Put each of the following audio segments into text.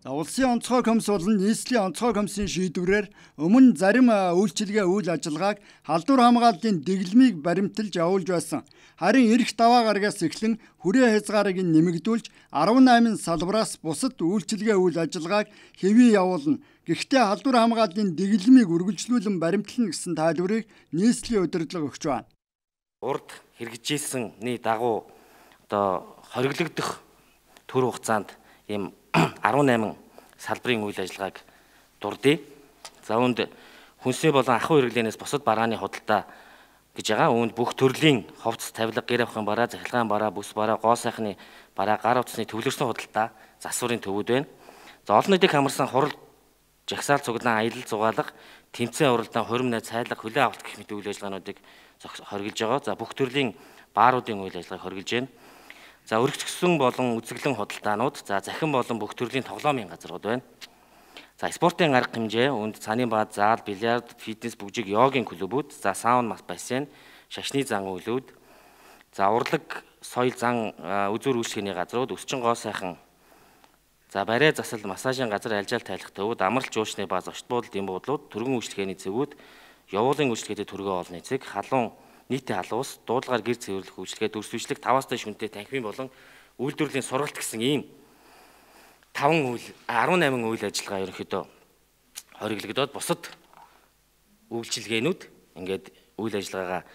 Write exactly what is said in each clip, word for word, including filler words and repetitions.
Улсын онцгой комисс болон нийслэлийн онцгой комиссийн шийдвэрээр өмнө зарим үйлчилгээ үйл ажиллагааг халдвар хамгааллын дэглэмийг баримталж явуулж байсан. Харин эрх даваа гарагаас эхлэн хүрээ хязгаарыг нэмэгдүүлж арван найман салбараас бусад үйлчилгээ үйл ажиллагааг хэвээ явуулна. Гэхдээ халдвар хамгааллын дэглэмийг үргэлжлүүлэн баримтлана гэсэн тайлбарыг нийслэлийн удирдлага өгч байна. Урд хэрэгжижсэнний дагуу одоо хориглогдох төр хугацаанд ийм арван найман салбарын үйл ажиллагааг дурдъя. За үүнд хүнсний болон ахуй хэрэглэнээс бусад барааны худалдаа гэж байгаа. Үүнд бүх төрлийн ховц, тавилга, гэр авахын бараа, захиргааны бараа, бүс бараа, гоо сайхны бараа, гар утасны төвлөрсөн худалдаа, засварын төвүүд байна. За олон нийтийг хамарсан хурал, жагсаал цуглаан, аялал зугаалга, тэмцээн уралдаан, хурим найз, цайлга, хүлээн авалт гэх мэт үйл ажиллагаануудыг хоригдж байгаа. За бүх төрлийн бааруудын үйл ажиллагааг хоригдж байна. За өргөцгсөн болон үзэглэн худалдаанууд, за захин болон бүх төрлийн тоглоомын газрууд байна. За спортын арга хэмжээ, үүнд цааны бааз, заал, бильярд, фитнес, бүжиг, йогийн клубүүд, за сауна, бассейн, шашны зан үйлүүд, за урлаг, соёл зан үзүүр үйлчлэгээний газрууд, өсчин гоо сайхан, за барай засал, массажийн газар, альжаал тайлах төвүүд, амралт жуучны бааз, очт буудалд эм буудлууд, түргэн үйлчлэгээний цэгүүд, явуулын үйлчлэгээтэй түргэн олны цэг, халуун нийтийн халуус, дуудлагаар гэр цэвэрлэх үйлчлэгээ, дүрсвэшлэг, таваас дээш хүнтэй танхимын болон үйлдвэрлэлийн сургалт гэсэн ийм таван үйл арван найман үйл ажиллагаа ерөнхийдөө хориглогдоод бусад үйлчилгээнүүд ингээд үйл ажиллагаагаа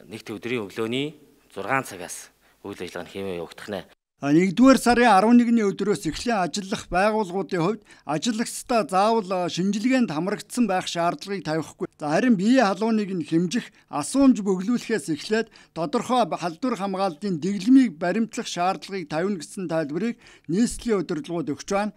нэгд өдрийн өглөөний зургаан цагаас үйл ажиллагаа нь хэмээн явагдах нэ. нэгдүгээр сарын арван нэгний өдрөөс эхлэн ажиллах байгууллагуудын хувьд ажиллагчдаа заавал шинжилгээнд хамрагдсан байх шаардлагыг тавихгүй. Харин биеийн халууныг нь хэмжих, асуумж бөглүүлэхээс эхлээд тодорхой халдвар хамгааллын дэглэмийг баримтлах шаардлагыг тавина гэсэн тайлбарыг нийслэлийн удирдлагууд өгч байна.